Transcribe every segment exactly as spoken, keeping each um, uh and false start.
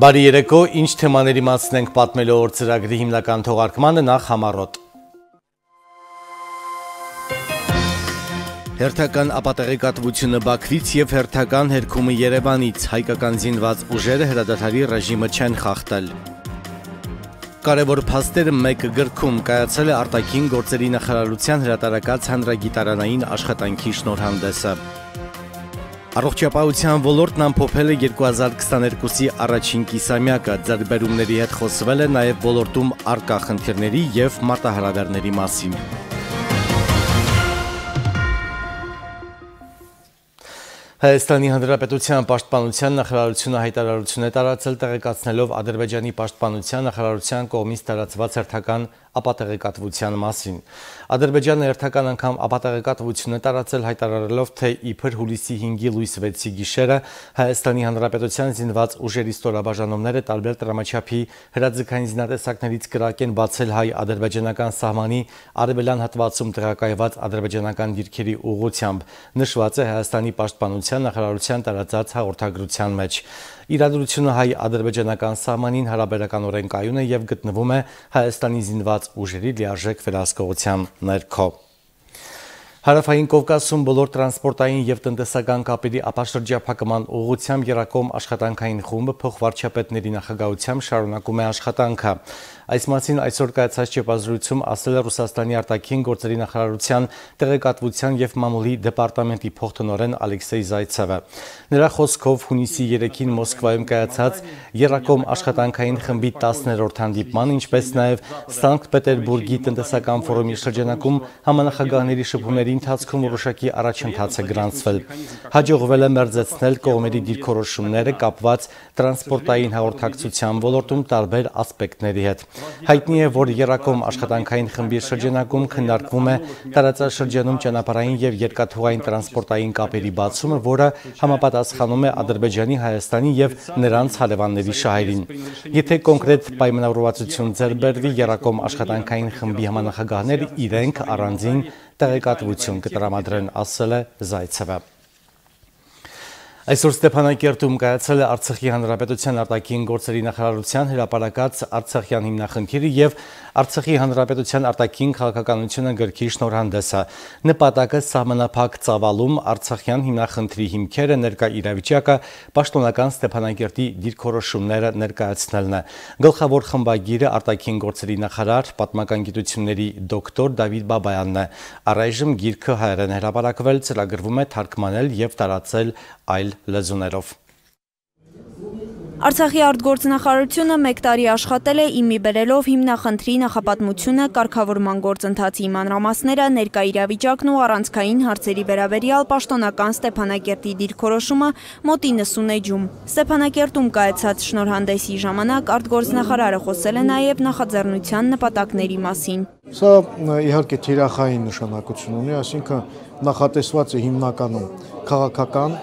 Բարի երեկո, ինչ թեմաների մասին ենք պատմելու օր ծրագրի հիմնական թողարկմանը նախ համառոտ։ Հերթական ապատեղեկատվությունը Բաքվից և հերթական հերքումը Երևանից, հայկական զինված ուժերը հրադադարի ռեժիմը չեն խախտել։ Կարևոր փաստերը մեկ գրքում կայացել է արտաքին գործերի նախարարության հրատարակած հանրագիտարանային աշխատանքի շնորհանդեսը։ Առողջապահության ոլորտն ամփոփել է երկու հազար քսաներկուսի առաջին կիսամյակը, ձեռքբերումների հետ խոսվել է նաև ոլորտում առկա խնդիրների և մարտահրավերների մասին։ Հայաստանի Հանրապետության պաշտպանության նախարարությունը հայտարարություն է տարածել տեղեկացնելով Ադրբեջանի պաշտպանության նախարարության կողմից տարածված հերթական ապատեղեկատվության մասին։ Ադրբեջանը հերթական անգամ ապատեղեկատվություն է տարածել հայտարարելով, թե իբր հուլիսի հինգի լույս վեցի գիշերը Հայաստանի Հանրապետության զինված ուժերի ստորաբաժանումները տարբեր տրամաչափի հրաձգային զինատեսակներից կրակ են բացել հայ-ադրբեջանական սահմանի արևելյան հատվածում տեղակայված ադրբեջանական դիրքերի ուղղությամբ, նշված է Հայաստանի պաշտպանության նախարարության տարածած հաղորդագրության մեջ։ Իրադրությունը հայ-ադրբեջանական սահմանին հարաբերականորեն կայուն է և գտնվում է Հայաստանի զինված ուժերի լիարժեք վերահսկողության ներքո։ Հարավային Կովկասում բոլոր տրանսպորտային և տնտեսական կապերի ապաշրջափակման ուղղությամբ եռակողմ աշխատանքային խումբը փոխվարչապետների նախագահությամբ շարունակում է աշխատանքը։ Այս մասին այսօր կայացած ճեպազրույցում ասել է Ռուսաստանի արտաքին գործերի նախարարության տեղեկատվության և մամուլի դեպարտամենտի փոխտնօրեն Ալեքսեյ Զայցևը։ Նրա խոսքով հունիսի երեքին Մոսկվայում կայացած եռակողմ աշխատանքային խմբի տասներորդ հանդիպման, ինչպես նաև Սանկտ Պետերբուրգի տնտեսական ֆորումի շրջանակում համանախագահների շփումների ընթացքում որոշակի առաջընթաց է գրանցվել։ Հաջողվել է մերձեցնել կողմերի դիրքորոշումները կապված տրանսպորտային հաղորդակցության ոլորտում տարբեր ասպեկտների հետ։ Հայտնի է, որ եռակողմ աշխատանքային խմբի շրջանակում քննարկվում է տարածաշրջանում ճանապարհային և երկաթուղային տրանսպորտային կապերի բացումը, որը համապատասխանում է Ադրբեջանի, Հայաստանի և նրանց հարևանների շահերին։ Եթե կոնկրետ պայմանավորվածություն ձեռք բերվի, եռակողմ աշխատանքային խմբի համանախագահները իրենք առանձին տեղեկատվություն կտրամադրեն, ասել է Զայցևը։ Այսօր Ստեփանակերտում կայացել է Արցախի Հանրապետության արտաքին գործերի նախարարության հրապարակած Արցախյան հիմնախնդիրը և Արցախի Հանրապետության արտաքին քաղաքականությունը գրքի շնորհանդեսը։ Նպատակը սահմանափակ ծավալում Արցախյան հիմնախնդրի հիմքերը, ներկա իրավիճակը, պաշտոնական Ստեփանակերտի դիրքորոշումները ներկայացնելն է։ Գլխավոր խմբագիրը արտաքին գործերի նախարար, պատմական գիտությունների դոկտոր Դավիթ Բաբայանն է։ Առայժմ գիրքը հայերեն հրապարակվել, ծրագրվում է թարգմանել և տարածել այլ լեզուներով։ Արցախի արտգործնախարարությունը մեկ տարի աշխատել է իմի բերելով հիմնախնդրի նախապատմությունը, կարգավորման գործընթացի մանրամասները, ներկա իրավիճակն ու առանցքային հարցերի վերաբերյալ պաշտոնական Ստեփանակերտի դիրքորոշումը մոտ իննսուն էջում։ Ստեփանակերտում կայացած շնորհանդեսի ժամանակ արտգործնախարարը խոսել է նաև նախաձեռնության նպատակների մասին։ Սա իհարկե թիրախային նշանակություն ունի, այսինքն նախատեսված է հիմնականում քաղաքական,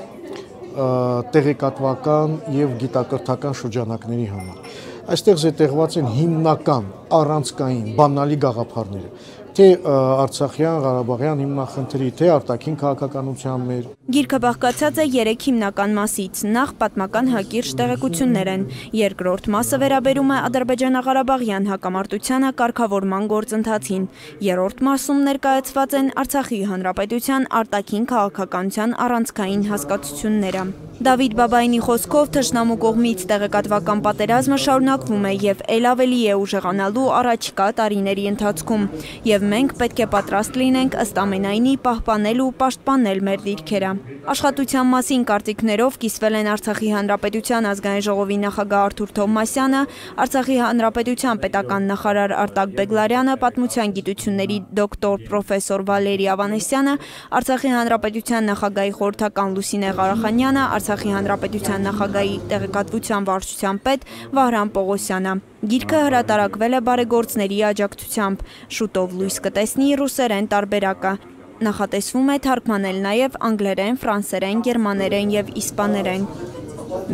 տեղեկատվական և գիտակրթական շրջանակների համար։ Այստեղ զետեղված են հիմնական, առանցքային, բանալի գաղափարները, թե Արցախյան, Ղարաբաղյան հիմնախնդրի, թե արտաքին քաղաքականության մեր։ Գիրքը բաղկացած է երեք հիմնական մասից։ Նախ պատմական հակիրճ տեղեկություններ են։ Երկրորդ մասը վերաբերում է ադրբեջանա-ղարաբաղյան հակամարտությանը կարգավորման գործընթացին։ Երրորդ մասում ներկայացված են Արցախի Հանրապետության արտաքին քաղաքականության առանցքային հասկացությունները։ Դավիթ Բաբայանի խոսքով թշնամու կողմից տեղեկատվական պատերազմը շարունակվում է և ել ավելի է ուժեղանալու առաջիկա տարիների ընթացքում, և մենք պետք է պատրաստ լինենք ըստ ամենայնի պահպանել ու պաշտպանել մեր դիրքերը։ Աշխատության մասին կարծիքներով կիսվել են Արցախի Հանրապետության ազգային ժողովի նախագահ Արթուր Թովմասյանը, Արցախի Հանրապետության պետական նախարար Արտակ Բեգլարյանը, պատմության գիտությունների դոկտոր պրոֆեսոր Վալերի Ավանեսյանը, Արցախի Հանրապետության նախագահի խորհրդական Լուսինե Ղարախանյանը, Արցախի Հանրապետության նախագահի տեղեկատվության վարչության պետ Վահրամ Պողոսյանը։ Գիրքը հրատարակվել է բարեգործների աջակցությամբ։ Շուտով լույս կտեսնի ռուսերեն տարբերակը։ Նախատեսվում է թարգմանել նաև անգլերեն, ֆրանսերեն, գերմաներեն և իսպաներեն։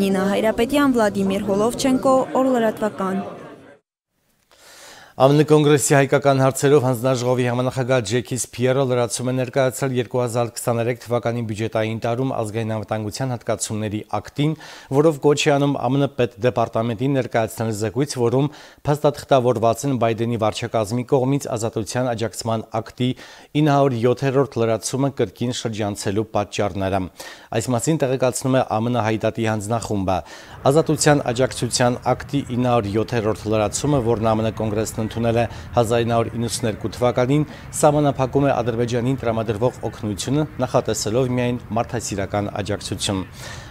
Նինա Հայրապետյան, Վլադիմիր Հոլովչենկո, Օրլրատվական։ Ա Մ Ն կոնգրեսի հայկական հարցերով հանձնաժողովի համանախագահ Ջեքի Սփիերը լրացում է ներկայացրել երկու հազար քսաներեք թվականի բյուջետային տարում ազգային անվտանգության հատկացումների ակտին, որով կոչ է անում Ա Մ Ն պետդեպարտամենտին ներկայացնել զեկույց, որում փաստաթղթավորված են Բայդենի վարչակազմի կողմից ազատության աջակցման ակտի ինը հարյուր յոթերորդ լրացումը կրկին շրջանցելու պատճառները։ Այս մասին տեղեկացնում է Ա Մ Ն հայդատի հանձնախումբը։ Ազատության աջակցության ակտի ինը հարյուր յոթերորդ լրացումը, որն Ա Մ Ն կոնգրեսն ընդունել է հազար ինը հարյուր իննսուններկու թվականին, սահմանափակում է Ադրբեջանին տրամադրվող օգնությունը, նախատեսելով միայն մարդասիրական աջակցություն։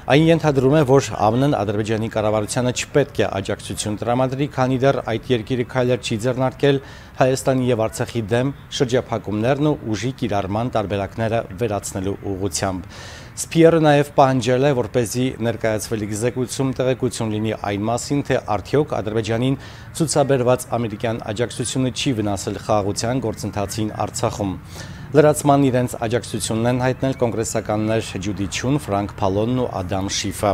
Այն ենթադրում է, որ Ա Մ Ն Ադրբեջանի կառավարությանը չպետք է աջակցություն տրամադրի, քանի դեռ այդ երկիրը քայլեր չի ձեռնարկել Հայաստանի եւ Արցախի դեմ շրջափակումներն ու ուժի կիրառման տարբերակները վերացնելու ուղղությամբ։ Սփիերը նաև պահանջել է, որպեսզի ներկայացվելիք զեկույցում տեղեկություն լինի այն մասին, թե արդյոք Ադրբեջանին ցուցաբերված ամերիկյան աջակցությունը չի վնասել խաղաղության գործընթացին Արցախում։ Լրացման իրենց աջակցությունն են հայտնել կոնգրեսականներ Ջուդի Չուն, Ֆրանկ Փալոնն ու Ադամ Շիֆը։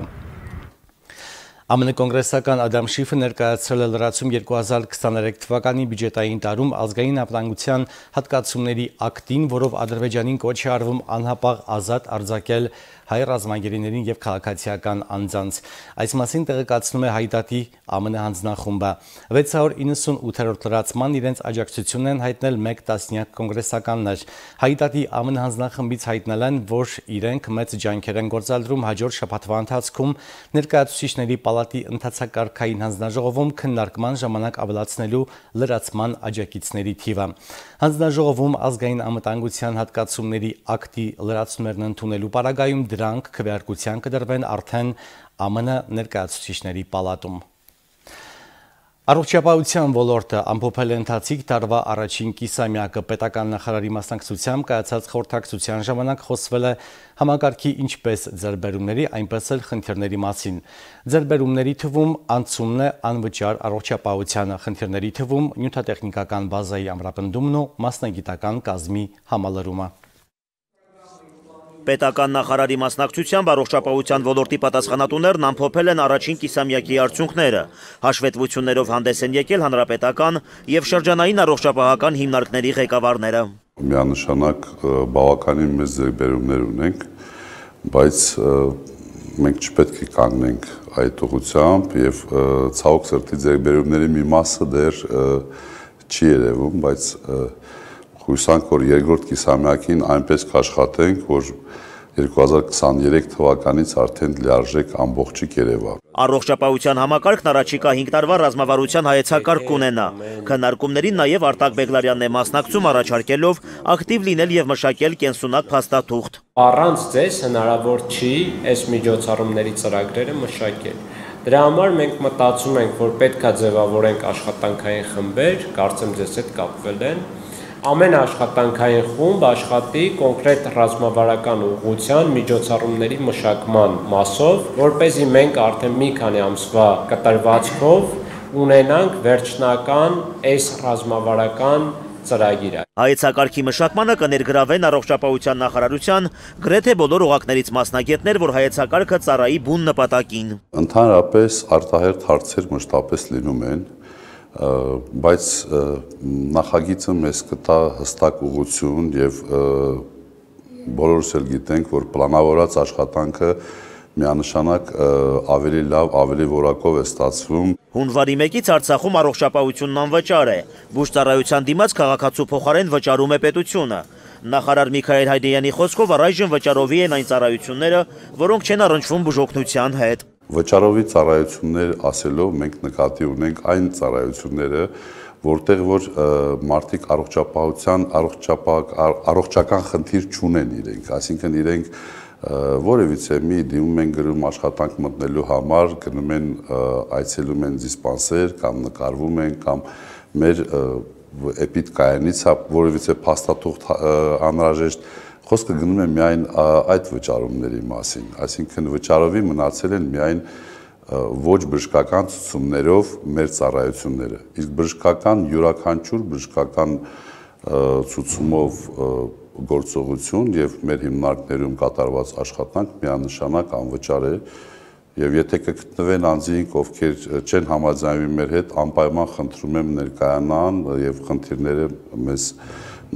Ա Մ Ն կոնգրեսական Ադամ Շիֆը ներկայացրել է լրացում երկու հազար քսաներեք թվականի բյուջետային տարում ազգային անվտանգության հատկացումների ակտին, որով Ադրբեջանին կոչ է արվում անհապաղ ազատ արձակել հայ ռազմագերիներին եւ քաղաքացիական անձանց։ Այս մասին տեղեկացնում է հայդատի Ա Մ Ն հանձնախումբը։ վեց հարյուր իննսունութերորդ լրացման իրենց աջակցությունն են հայտնել մեկ տասնյակ կոնգրեսականներ։ Հայդատի Ա Մ Ն հանձնախմբից հայտնել են, որ իրենք մեծ ջանքեր են գործադրում հաջորդ շաբաթվա ընթացքում ներկայացուցիչների պալատի ընթացակարգային հանձնաժողովում քննարկման ժամանակ ավելացնելու լրացման աջակիցների թիվը։ Հանձնաժողովում ազգային անվտանգության հատկացումների ակտի լրացումներն ընդունելու պարագայում դրանք քվեարկության կդրվեն արդեն Ա Մ Ն ներկայացուցիչների պալատում։ Առողջապահության ոլորտը ամփոփել է ընթացիկ տարվա առաջին կիսամյակը։ Պետական նախարարի մասնակցությամբ կայացած խորհրդակցության ժամանակ խոսվել է համակարգի ինչպես ձեռբերումների, այնպես էլ խնդիրների մասին։ Ձեռբերումների թվում անցումն է անվճար առողջապահությանը, խնդիրների թվում նյութատեխնիկական բազայի ամրապնդումն ու մասնագիտական կազմի համալրումը։ Պետական նախարարի մասնակցությամբ առողջապահության ոլորտի պատասխանատուներն ամփոփել են առաջին կիսամյակի արդյունքները։ Հաշվետվություններով հանդես են եկել հանրապետական եւ շրջանային առողջապահական հիմնարկների ղեկավարները։ Միանշանակ բավականին մեծ ձեռքբերումներ ունենք, բայց մենք չպետք է կանգնենք այդ ուղղությամբ եւ ցավոք սրտի ձեռքբերումների մի մասը դեռ չի երևում, բայց հույսանք, որ երկրորդ կիսամյակին այնպես կաշխատենք, որ երկու հազար քսաներեք թվականից արդեն լիարժեք ամբողջի կերևա։ Առողջապահության համակարգն առաջիկա հինգ տարվա ռազմավարության հայեցակարգ կունենա։ Քննարկումներին նաև Արտակ Բեգլարյանն է մասնակցում, առաջարկելով ակտիվ լինել եւ մշակել կենսունակ փաստաթուղթ։ Առանց ձեզ հնարավոր չի այս միջոցառումների ծրագրերը մշակել։ Դրա համար մենք մտածում ենք, որ պետք է ձևավորենք աշխատանքային խմբեր, կարծեմ ձեզ հետ կապվել են։ Ամեն աշխատանքային խումբ աշխատի կոնկրետ ռազմավարական ուղղության միջոցառումների մշակման մասով, որպեսզի մենք արդեն մի քանի ամսվա կտրվածքով ունենանք վերջնական այս ռազմավարական ծրագիրը։ Հայեցակարգի մշակմանը կներգրավեն առողջապահության նախարարության գրեթե բոլոր օղակներից մասնագետներ, որ հայեցակարգը ծառայի բուն նպատակին։ Ընդհանրապես արտահերթ հարցեր մշտապես լինում են, բայց նախագիծը մեզ կտա հստակ ուղղություն եւ բոլորս էլ գիտենք, որ պլանավորած աշխատանքը միանշանակ ավելի լավ, ավելի որակով է ստացվում։ Հունվարի մեկից Արցախում առողջապահությունն անվճար է։ Բուժծառայության դիմաց քաղաքացու փոխարեն վճարում է պետությունը։ Նախարար Միքայել Հայդեյանի խոսքով առայժմ վճարովի են այն ծառայությունները, որոնք չեն առնչվում բուժօգնության հետ։ Վճարովի ծառայություններ ասելով մենք նկատի ունենք այն ծառայությունները, որտեղ որ մարդիկ առողջապահության, առողջական խնդիր չունեն իրենք, այսինքն իրենք որևիցե մի դիմում են գրում աշխատանք մտնելու համար, գնում են այցելում են դիսպանսեր կամ նկարվում են կամ մեր էպիդկայանից որևիցե փաստաթուղթ անհրաժեշտ խոսքը գնում է միայն այդ վճարումների մասին, այսինքն վճարովի մնացել են միայն ոչ բժշկական ցուցումներով մեր ծառայությունները, իսկ բժշկական յուրաքանչյուր բժշկական ցուցումով գործողություն եւ մեր հիմնարկներում կատարված աշխատանք միանշանակ անվճար է Եվ եթե կգտնվեն անձինք, ովքեր չեն համաձայնվի մեր հետ, անպայման խնդրում եմ ներկայանան եւ խնդիրները մեզ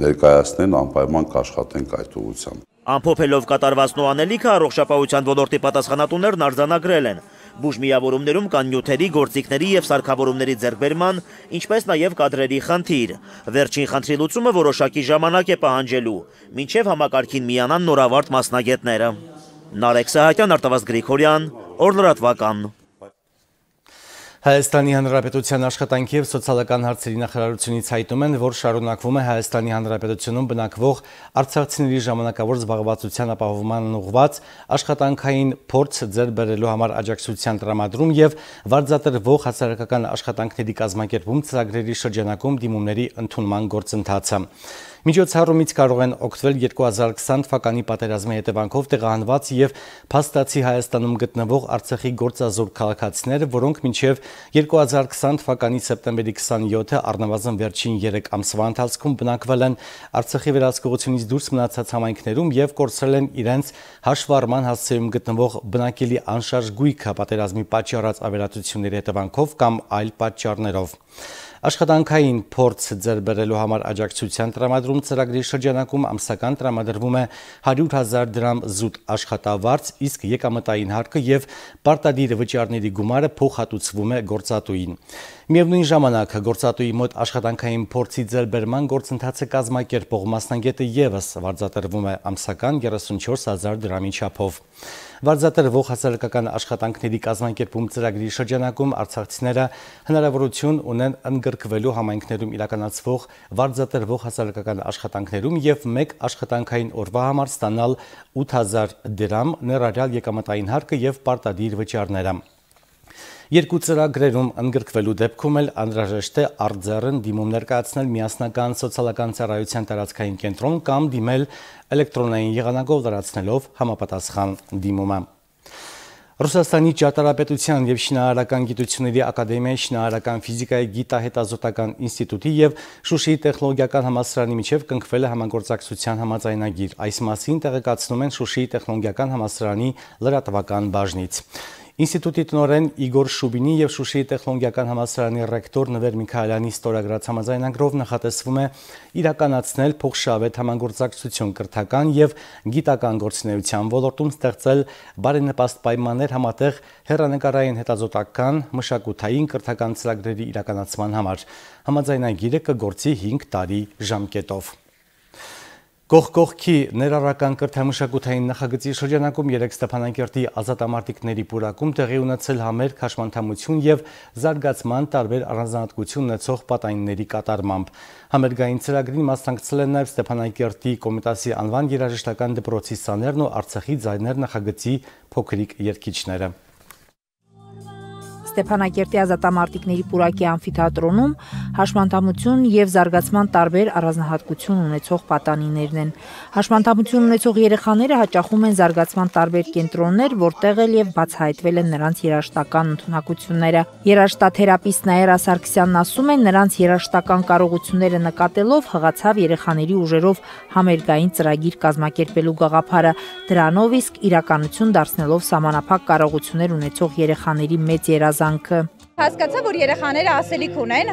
ներկայացնեն, անպայման կաշխատենք այդ ուղղությամբ։ Ամփոփելով կատարվածն ու անելիքը առողջապահության ոլորտի պատասխանատուներն արձանագրել են։ Բուժմիավորումներում կան նյութերի, գործիքների եւ սարքավորումների ձեռքբերման, ինչպես նաեւ կադրերի խնդիր։ Վերջին խնդրի լուծումը որոշակի ժամանակ է պահանջելու, մինչեւ համակարգին միանան նորավարտ մասնագետները։ Նարեկ Սահակյան, Արտավազդ Գրիգորյան, Օրլրատվական։ Հայաստանի Հանրապետության աշխատանքի և սոցիալական հարցերի նախարարությունից հայտում են, որ շարունակվում է Հայաստանի Հանրապետությունում բնակվող արցախցիների ժամանակավոր զբաղվածության ապահովման ուղղված աշխատանքային փորձ ձեռք բերելու համար աջակցության տրամադրում և վարձատրվող հասարակական աշխատանքների կազմակերպում ծրագրերի շրջանակում դիմումների ընդունման գործընթացը։ Միջոցառումից կարող են օգտվել երկու հազար քսան թվականի պատերազմի հետևանքով տեղահանված և փաստացի Հայաստանում գտնվող Արցախի գործազուրկ քաղաքացիները, որոնք մինչև երկու հազար քսան թվականի սեպտեմբերի քսանյոթը առնվազն վերջին երեք ամսվա ընթացքում բնակվել են Արցախի վերահսկողությունից դուրս մնացած համայնքներում և կորցրել են իրենց հաշվառման հասցեում գտնվող բնակելի անշարժ գույքը պատերազմի պատճառած ավերածությունների հետևանքով կամ այլ պատճառներով։ Աշխատանքային փորձ ձեռք բերելու համար աջակցության տրամադրում ծրագրի շրջանակում ամսական տրամադրվում է հարյուր հազար դրամ զուտ աշխատավարձ, իսկ եկամտային հարկը և պարտադիր վճարների գումարը փոխհատուցվում է գործատուին։ Միևնույն ժամանակ գործատուի մոտ աշխատանքային փորձի ձեռքբերման գործընթացը կազմակերպող մասնագետը ևս վարձատրվում է ամսական երեսունչորս հազար դրամի չափով։ Վարձատրվող հասարակական աշխատանքների կազմակերպում ծրագրի շրջանակում արցախցիները հնարավորություն ունեն ընդգրկվելու համայնքներում իրականացվող վարձատրվող հասարակական աշխատանքներում և մեկ աշխատանքային օրվա համար ստանալ ութ հազար դրամ, ներառյալ եկամտային հարկը և պարտադիր վճարները։ Երկու ծրագրերում ընդգրկվելու դեպքում էլ անհրաժեշտ է արտձեռն դիմում ներկայացնել միասնական սոցիալական ծառայության տարածքային կենտրոն կամ դիմել էլեկտրոնային եղանակով լրացնելով համապատասխան դիմումը։ Ռուսաստանի ճարտարապետության և շինարարական գիտությունների ակադեմիայի շինարարական ֆիզիկայի գիտահետազոտական ինստիտուտի և Շուշիի տեխնոլոգիական համալսարանի միջև կնքվել է համագործակցության համաձայնագիր։ Այս մասին տեղեկացնում են Շուշիի տեխնոլոգիական համալսարանի լրատվական բաժնից։ Ինստիտուտի տնօրեն Իգոր Շուբինի և Շուշիի տեխնոլոգիական համալսարանի ռեկտոր Նվեր Միքայելյանի ստորագրած համաձայնագրով նախատեսվում է իրականացնել փոխշահավետ համագործակցություն կրթական և գիտական գործունեության ոլորտում, ստեղծել բարենպաստ պայմաններ համատեղ հեռանկարային հետազոտական, մշակութային, կրթական ծրագրերի իրականացման համար։ Համաձայնագիրը կգործի հինգ տարի ժամկետով։ Կողք-կողքի ներառական կրթամշակութային նախագծի շրջանակում երեկ Ստեփանակերտի ազատամարտիկների պուրակում տեղի ունեցել համերգ, հաշմանդամություն և զարգացման տարբեր առանձնահատկություն ունեցող պատանիների կատարմամբ։ Համերգային ծրագրին մասնակցել են նաև Ստեփանակերտի Կոմիտասի անվան երաժշտական դպրոցի սաներն ու Արցախի ձայներ նախագծի փոքրիկ երգիչները։ Ստեփանակերտի ազատամարտիկների պուրակի ամֆիթատրոնում հաշմանդամություն և զարգացման տարբեր առանձնահատկություն ունեցող պատանիներն են։ Հաշմանդամություն ունեցող երեխաները հաճախում են զարգացման տարբեր կենտրոններ, որտեղ էլ և բացահայտվել են նրանց երաժշտական ընդունակությունները։ Երաժշտաթերապիստ Նաիրա Սարգսյանն ասում է, նրանց երաժշտական կարողությունները նկատելով հղացավ երեխաների ուժերով համերգային ծրագիր կազմակերպելու գաղափարը, դրանով իսկ իրականություն դարձնելով սահմանափակ կարողություններ ունեցող երեխաների մեծ երազանքը։ Հասկացա, որ երեխաները ասելիք ունեն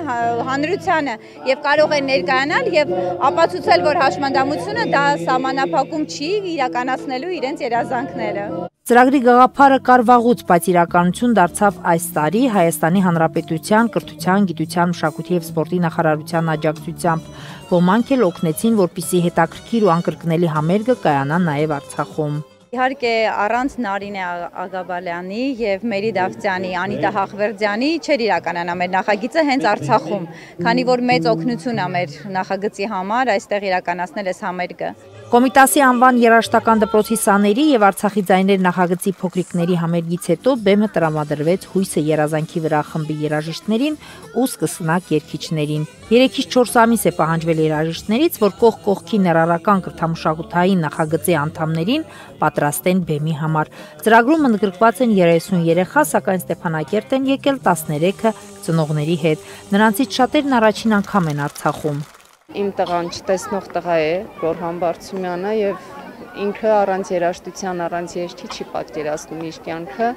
հանրությանը և կարող են ներկայանալ և ապացուցել, որ հաշմանդամությունը դա սահմանափակում չի իրականացնելու իրենց երազանքները։ Ծրագրի գաղափարը կար վաղուց, բայց իրականություն դարձավ այս տարի Հայաստանի Հանրապետության կրթության, գիտության, մշակույթի և սպորտի նախարարության աջակցությամբ։ Ոմանք էլ օգնեցին, որպեսզի հետաքրքիր ու անկրկնելի համերգը կայանա նաև Արցախում։ Իհարկե առանց Նարինե Աղաբալյանի և Մերի Դավթյանի, Անիտա Հախվերդյանի չէր իրականանա մեր նախագիծը հենց Արցախում, քանի որ մեծ օգնություն է մեր նախագծի համար այստեղ իրականացնել այս համերգը։ Կոմիտասի անվան երաժշտական դպրոցի սաների և Արցախի ձայներ նախագծի փոքրիկների համերգից հետո բեմը տրամադրվեց Հույսը երազանքի վրա խմբի երաժիշտներին ու սկսնակ երգիչներին։ Երեքից չորս ամիս է պահանջվել երաժիշտներից, որ կողք կողքի ներառական կրթամշակութային նախագծի անդամներին պատրաստեն բեմի համար։ Ծրագրում ընդգրկված են երեսուն երեխա, սակայն Ստեփանակերտ են եկել տասներեքը ծնողների հետ։ Նրանցից շատերն առաջին անգամ են Արցախում։ Իմ տղան չտեսնող տղա է, Գորհան Բարցումյանը, եւ ինքը առանց երաժշտության, առանց երգի չի պատկերացնում իր կյանքը։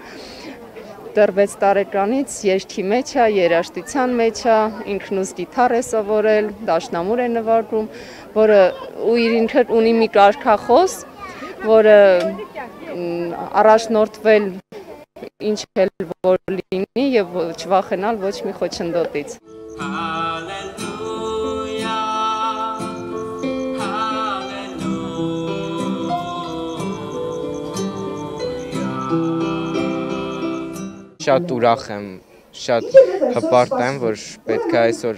դեռ վեց տարեկանից երգի մեջ է, երաժշտության մեջ է, ինքն ուս գիտար է սովորել, դաշնամուր է նվագում, որը ու իր ինքը ունի մի կարգախոս, որը առաջնորդվել ինչ էլ որ լինի եւ չվախենալ ոչ մի խոչընդոտից։ Շատ ուրախ եմ, շատ հպարտ եմ, որ պետք է այսօր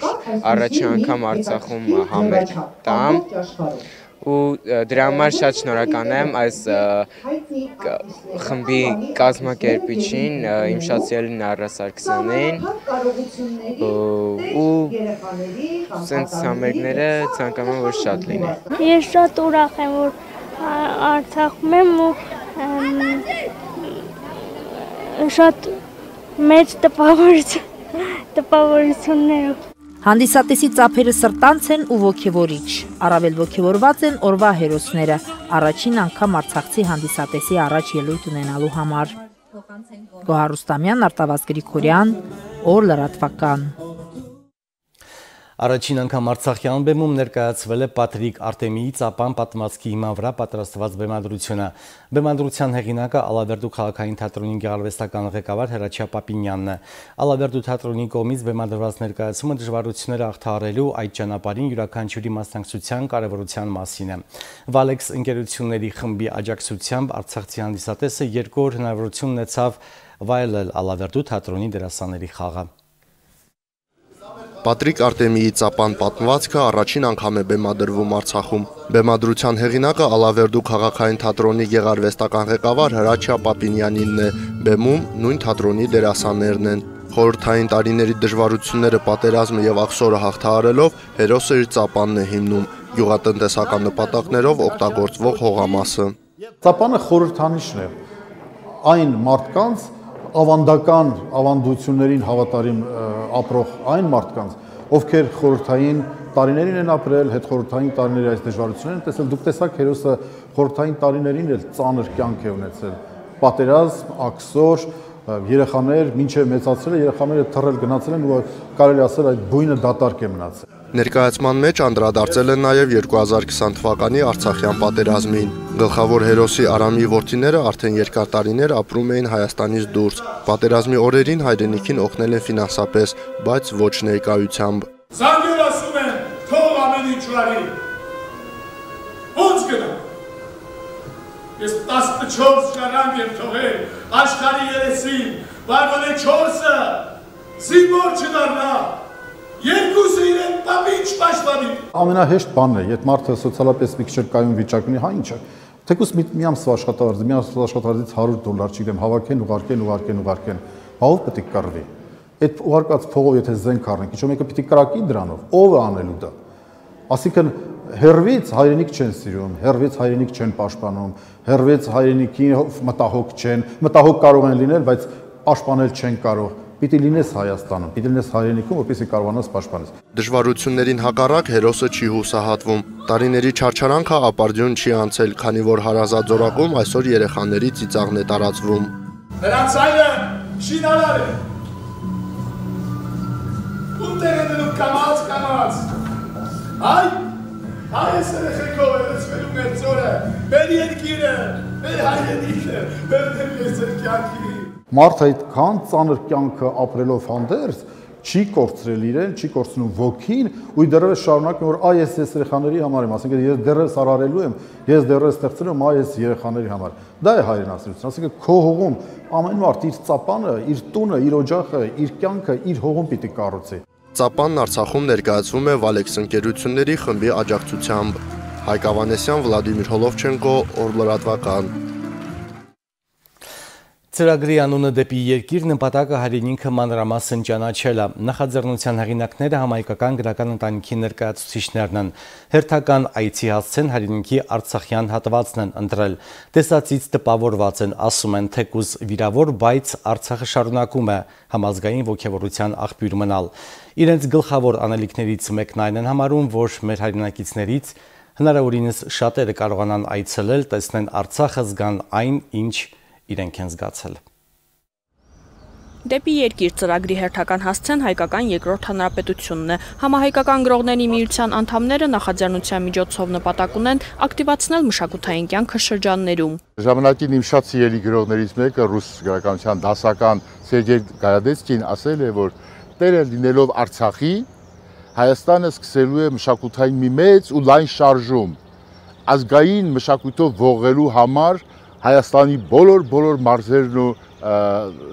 առաջին անգամ Արցախում համերգ տամ ու դրա համար շատ շնորհակալ եմ այս խմբի կազմակերպիչին, իմ շատ սիրելի Նարա Սարգսյանին ու սենց համերգները ցանկանում եմ, որ շատ լինեն։ Ես շատ ուրախ եմ, որ Արցախում եմ ու շատ մեծ տպավորություններով։ Հանդիսատեսի ծափերը սրտանց են ու ոգևորիչ, առավել ոգևորված են օրվա հերոսները, առաջին անգամ արցախցի հանդիսատեսի առաջ ելույթ ունենալու համար։ Գոհար Ռուստամյան, Արտավազդ Գրիգորյան, օր լրատվական։ Առաջին անգամ Արցախյան բեմում ներկայացվել է Պատրիկ Արտեմիի ծապան պատմվածքի հիման վրա պատրաստված բեմադրությունը։ Բեմադրության հեղինակը Ալավերդու քաղաքային թատրոնի գեղարվեստական ղեկավար Հրաչյա Պապինյանն է։ Ալավերդու թատրոնի կողմից բեմադրված ներկայացումը դժվարությունները հաղթահարելու այդ ճանապարհին յուրաքանչյուրի մասնակցության կարևորության մասին է։ Վալեքս ընկերությունների խմբի աջակցությամբ արցախցի հանդիսատեսը երկու օր հնարավորություն ունեցավ վայելել Ալավերդու թատրոնի դերասանների խաղը։ Պատրիկ Արտեմիի ծապան պատմվածքը առաջին անգամ է բեմադրվում Արցախում։ Բեմադրության հեղինակը Ալավերդու քաղաքային թատրոնի գեղարվեստական ղեկավար Հրաչյա Պապինյանինն է, բեմում նույն թատրոնի դերասաններն են։ Խորհրդային տարիների դժվարությունները, պատերազմը եւ աղսորը հաղթահարելով հերոսը իր ծապանն է հիմնում, գյուղատնտեսական նպատակներով օգտագործվող հողամասը։ Ծապանը խորհրդանիշն է այն մարդկանց ավանդական ավանդություններին հավատարիմ ապրող այն մարդկանց, ովքեր խորհրդային տարիներին են ապրել, հետխորհրդային տարիների այս դժվարություններն են տեսել, դուք տեսաք հերոսը խորհրդային տարիներին էլ ծանր կյանք է ունեցել, պատերազմ, աքսոր, երեխաներ, մինչև մեծացել, երեխաները թռել գնացել են ու կարելի ասել այդ բույնը դատարկ է մնացել։ Ներկայացման մեջ անդրադարձել են նաև երկու հազար քսան թվականի Արցախյան պատերազմին։ Գլխավոր հերոսի Արամի որդիները արդեն երկար տարիներ ապրում էին Հայաստանից դուրս։ Պատերազմի օրերին հայրենիքին օգնել են ֆինանսապես, բայց ոչ ներկայությամբ։ Զանգեր ասում են, թող ամեն ինչ արի։ Ոնց գնա։ Ես տասնչորս շարան եմ թողել աշխարհի երեսին, բայց որ չորսը զինվոր չդառնա։ Երկուսը իրեն պապինչ պաշտպանի։ Ամենահեշտ բանն է, եթե մարդը սոցիալապես մի քիչ կայուն վիճակ ունի, հա ինչ է։ Թեկուզ մի ամսվա աշխատավարձ, մի ամսվա աշխատավարձից հարյուր դոլար, չգիտեմ, հավաքեն, ուղարկեն, ուղարկեն, ուղարկեն։ Բա ով պետք է կռվի։ Այդ ուղարկած փողով եթե զենք առնենք, ինչ մեկը պիտի կրակի դրանով, ով է անելու դա։ Այսինքն հերվից հայրենիք չեն սիրում, հերվից հայրենիք չեն պաշտպանում, հերվից հայրենիքի մտահոգ չեն, մտահոգ կարող են լինել, բայց պաշտպանել չեն կարող։ Պիտի լինես Հայաստանում, պիտի լինես հայրենիքում, որպեսզի կարողանաս պաշտպանես։ Դժվարություններին հակառակ հերոսը չի հուսահատվում։ Տարիների չարչարանքը ապարդյուն չի անցել, քանի որ հարազատ զորակում այսօր երեխաների ծիծաղն է տարածվում։ Նրանց այլը շինարար է։ Ո՞ւտեղ է դնում կամաց, կամաց։ Այ, այս երեխեքով է լցվելու մեր ծորը, մեր երկիրը, մեր հայրենիքը, մեր դեպի կյանքի։ Մարդ այդքան ծանր կյանքը ապրելով հանդերձ չի կորցրել իրեն, չի կորցնում ոգին ու դեռևս շարունակում որ այ ես ես երեխաների համար եմ, ասենք ես դեռևս արարելու եմ, ես դեռևս ստեղծել եմ այ ես երեխաների համար։ Դա է հայրենասիրություն, ասենք քո հողում ամեն մարդ իր ծապանը, իր տունը, իր օջախը, իր կյանքը իր հողում պիտի կառուցի։ Ծապանն Արցախում ներկայացվում է Վալեքս ընկերությունների խմբի աջակցությամբ։ Հայկ Ավանեսյան, Վլադիմիր Հոլովչենկո, օր լրատվական։ Ծրագրի անունը դեպի երկիր նպատակը հայրենիքը մանրամասն ճանաչելը։ Նախաձեռնության հեղինակները համայնքական գրական ընտանիքի ներկայացուցիչներն են։ Հերթական այցի հասցեն հայրենիքի արցախյան հատվածն են ընտրել։ Տեսածից տպավորված են, ասում են թեկուզ վիրավոր, բայց Արցախը շարունակում է համազգային ոգևորության աղբյուր մնալ։ Իրենց գլխավոր անելիքներից մեկն այն են համարում, որ մեր հայրենակիցներից հնարավորինս շատերը կարողանան այցելել, տեսնեն Արցախը, զգան այն, ինչ իրենք են զգացել։ Դեպի երկիր ծրագրի հերթական հասցեն հայկական երկրորդ հանրապետությունն է։ Համահայկական գրողների միության անդամները նախաձեռնության միջոցով նպատակ ունեն ակտիվացնել մշակութային կյանքը շրջաններում։ Ժամանակին իմ շատ սիրելի գրողներից մեկը ռուս գրականության դասական Սերգեյ Գայադեցկին ասել է, որ տերը լինելով Արցախի, Հայաստանը սկսելու է մշակութային մի մեծ ու լայն շարժում, ազգային մշակույթով ողելու համար Հայաստանի բոլոր-բոլոր մարզերն ու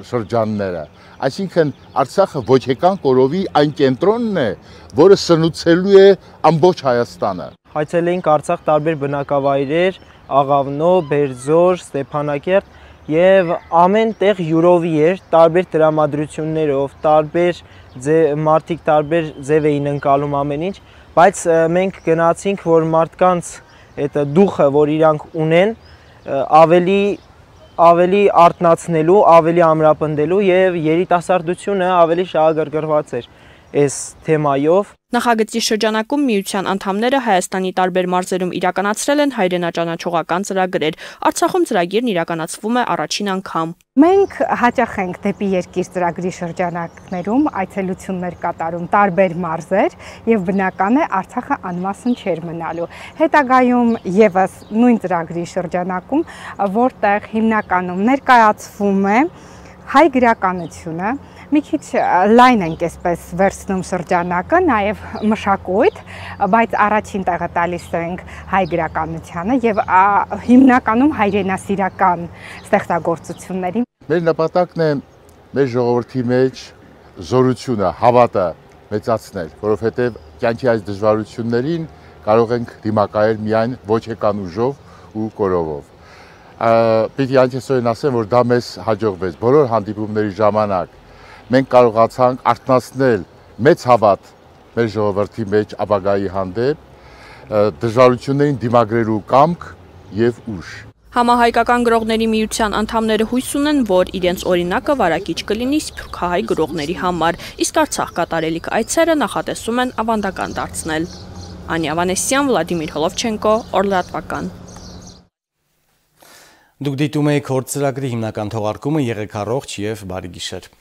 շրջանները։ Այսինքն Արցախը ոչ եկան կորովի այն կենտրոնն է, որը սնուցելու է ամբողջ Հայաստանը։ Հայցել էինք Արցախ տարբեր բնակավայրեր, Աղավնո, Բերձոր, Ստեփանակերտ եւ ամեն տեղ յուրովի էր, տարբեր տրամադրություններով, տարբեր մարդիկ տարբեր ձև էին ընկալում ամեն ինչ, բայց մենք գնացինք, որ մարդկանց այդ դուխը, որ իրանք ունեն, ավելի ավելի արտնացնելու, ավելի ամրապնդելու եւ երիտասարդությունը ավելի շահագրգռված էր այս թեմայով։ Նախագծի շրջանակում միության անդամները Հայաստանի տարբեր մարզերում իրականացրել են հայրենաճանաչողական ծրագրեր։ Արցախում ծրագիրն իրականացվում է առաջին անգամ։ Մենք հաճախ ենք դեպի երկիր ծրագրի շրջանակներում այցելություններ կատարում տարբեր մարզեր եւ բնական է Արցախը անմասն չէր մնալու։ Հետագայում եւս նույն ծրագրի շրջանակում, որտեղ հիմնականում ներկայացվում է հայ գրականությունը, մի քիչ լայն ենք այսպես վերցնում շրջանակը, նաև մշակույթ, բայց առաջին տեղը տալիս ենք հայ գրականությանը եւ հիմնականում հայրենասիրական ստեղծագործություններին։ Մեր նպատակն է մեր ժողովրդի մեջ զորությունը, հավատը մեծացնել, որովհետեւ կյանքի այս դժվարություններին կարող ենք դիմակայել միայն ոչ եկան ուժով ու կորովով։ Պիտի այնքեսօրեն ասեմ, որ դա մեզ հաջողվեց բոլոր հանդիպումների ժամանակ մենք կարողացանք արտնասնել մեծ հավատ մեր ժողովրդի մեջ ապագայի հանդեպ, դժվարություններին դիմագրելու կամք եւ ուժ։ Համահայկական գրողների միության անդամները հույս ունեն, որ իրենց օրինակը վարակիչ կլինի սփյուռքահայ գրողների համար, իսկ Արցախ կատարելիք այցերը նախատեսում են ավանդական դարձնել։ Անյա Վանեսյան, Վլադիմիր Հոլովչենկո, Օրլատվական։ Դուք դիտում եք հոր ծրագրի հիմնական թողարկումը, եղեք առողջ եւ բարի գիշեր։